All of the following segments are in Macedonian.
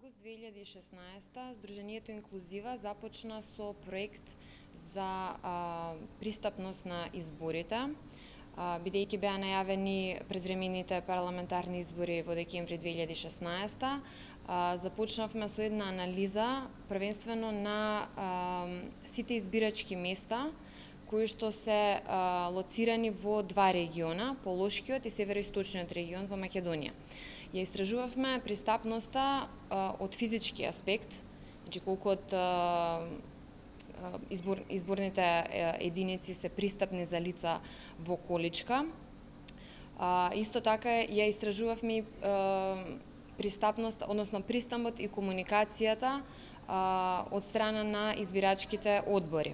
август 2016 Сдруженијето Инклузива започна со проект за пристапност на изборите, бидејќи беа најавени предвремените парламентарни избори во декември 2016. Започнавме со една анализа првенствено на сите избирачки места кои што се лоцирани во два региона, Полошкиот и Североисточниот регион во Македонија. Ја истражувавме пристапноста од физички аспект, значи колку од изборните единици се пристапни за лица во количка. Исто така ја истражувавме пристапност, односно пристапот и комуникацијата од страна на избирачките одбори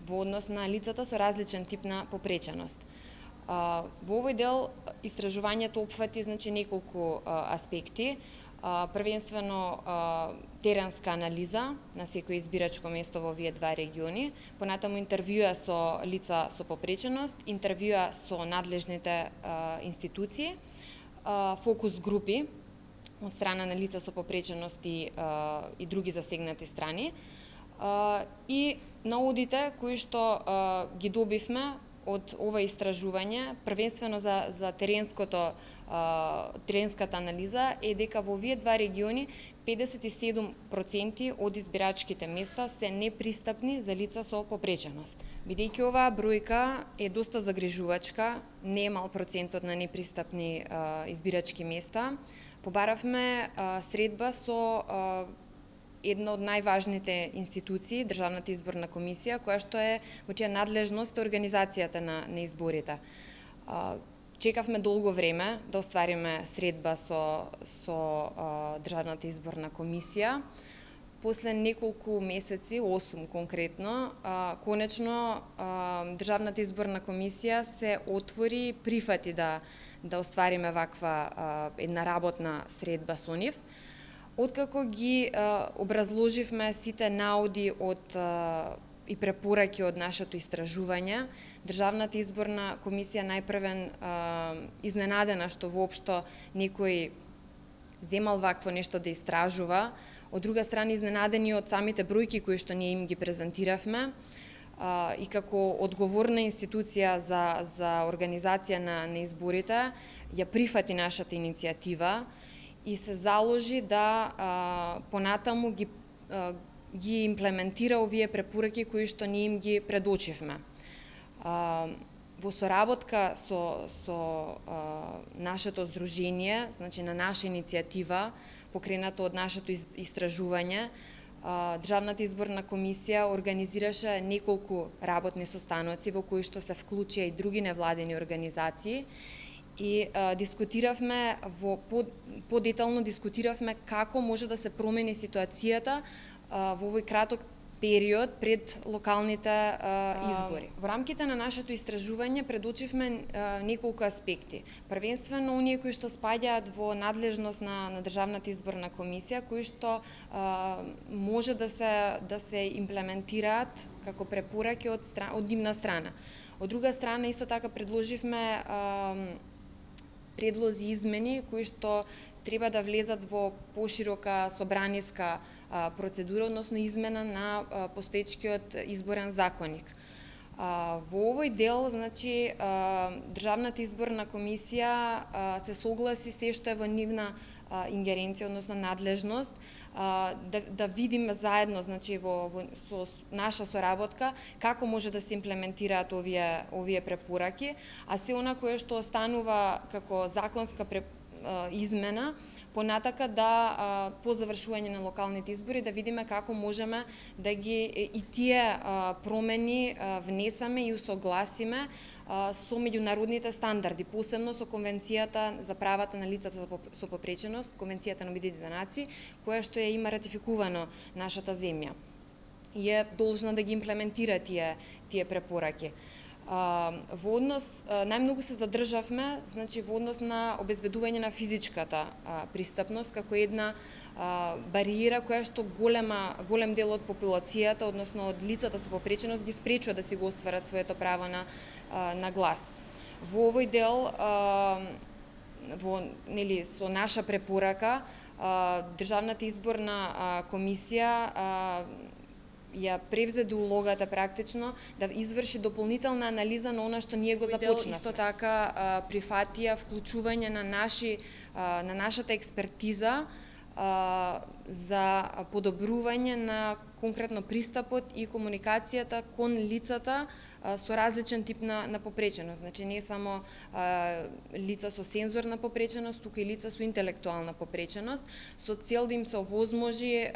во однос на лицата со различен тип на попреченост. Во овој дел истражувањето опфати неколку аспекти, првенствено теренска анализа на секој избирачко место во овие два региони, понатаму интервјуа со лица со попреченост, интервјуа со надлежните институции, фокус групи од страна на лица со попреченост и други засегнати страни, и наудите кои што ги добивме од ова истражување, првенствено за теренската анализа, е дека во овие два региони 57% од избирачките места се непристапни за лица со попреченост. Бидејќи оваа бројка е доста загрижувачка, не е мал процентот на непристапни избирачки места, побаравме средба со една од најважните институции, Државната изборна комисија, која што е во чија надлежност е организацијата на изборите. Чекавме долго време да оствариме средба со Државната изборна комисија. После неколку месеци, 8 конкретно, конечно Државната изборна комисија се отвори, прифати да оствариме ваква една работна средба со нив. Откако ги образложивме сите науди и препораки од нашето истражување, Државната изборна комисија најпрвен изненадена што воопшто некој земал вакво нешто да истражува, од друга страна изненадени од самите бројки кои што ние им ги презентиравме, и како одговорна институција за организација на изборите ја прифати нашата иницијатива и се заложи да понатаму ги имплементира овие препораки кои што ние им ги предочивме. Во соработка со нашето здружение, значи на наша иницијатива, покрената од нашето истражување, Државната изборна комисија организираше неколку работни состаноци во кои што се вклучија и други невладени организации, и дискутиравме подетално дискутиравме како може да се промени ситуацијата во овој краток период пред локалните избори. Во рамките на нашето истражување предочивме неколку аспекти. Првенствено оние кои што спаѓаат во надлежност на Државната изборна комисија, кои што може да се имплементираат како препораки од нивна страна. Од друга страна исто така предложивме предлози измени кои што треба да влезат во поширока собраниска процедура, односно измена на постоечкиот изборен законник. Во овој дел, значи, Државната изборна комисија се согласи се што е во нивна ингеренција, односно надлежност, да видиме заедно, значи, со наша соработка, како може да се имплементираат овие препораки, а се она кое што останува како законска измена, понатака по завршување на локалните избори да видиме како можеме да ги и тие промени внесеме и усогласиме со меѓународните стандарди, посебно со Конвенцијата за правата на лицата со попреченост, Конвенцијата на Обединетите нации, која што ја има ратификувано нашата земја и е должна да ги имплементира тие препораки. Во однос, најмногу се задржавме, значи, во однос на обезбедување на физичката пристапност, како една бариера која што голем дел од популацијата, односно од лицата со попреченост, ги спречува да си го остварат своето право на глас. Во овој дел, со наша препорака, Државната изборна комисија ја превзеде улогата практично да изврши дополнителна анализа на она што ние го започнавме. Исто така прифатија вклучување на нашата експертиза за подобрување на конкретно пристапот и комуникацијата кон лицата со различен тип на попреченост. Значи не само лица со сензорна попреченост, туку и лица со интелектуална попреченост, со цел да им се овозможи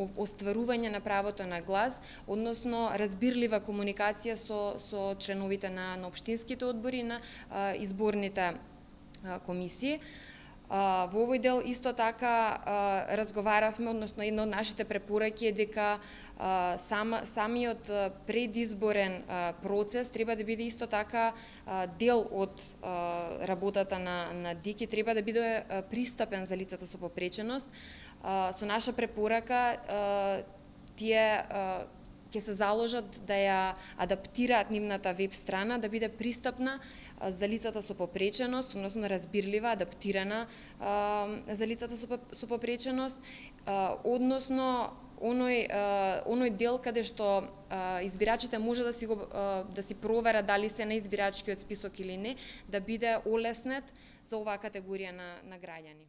остварување на правото на глас, односно разбирлива комуникација со членовите на општинските одбори и на изборните комисии. Во овој дел исто така разговаравме, односно една од нашите препораки е дека самиот предизборен процес треба да биде исто така дел од работата на ДИК и треба да биде пристапен за лицата со попреченост. Со наша препорака тие ќе се заложат да ја адаптираат нивната веб страна да биде пристапна за лицата со попреченост, односно разбирлива, адаптирана за лицата со попреченост, односно оној дел каде што избирачите може да си проверат дали се на избирачкиот список или не, да биде олеснет за оваа категорија на граѓани.